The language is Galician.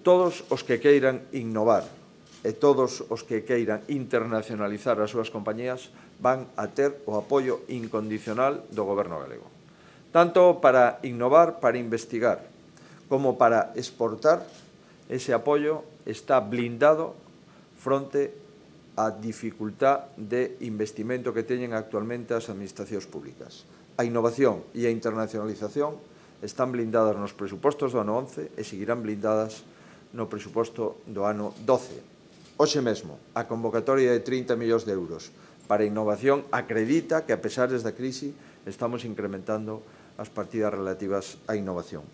Todos os que queiran innovar e todos os que queiran internacionalizar as súas compañías van a ter o apoio incondicional do Goberno galego. Tanto para innovar, para investigar, como para exportar, ese apoio está blindado fronte á dificultad de investimento que teñen actualmente as administracións públicas. A innovación e a internacionalización están blindadas nos presupostos do ano 11 e seguirán blindadas no presuposto do ano 12. Hoxe mesmo, a convocatoria de 30 millóns de euros para innovación acredita que, a pesar da crise, estamos incrementando as partidas relativas á innovación.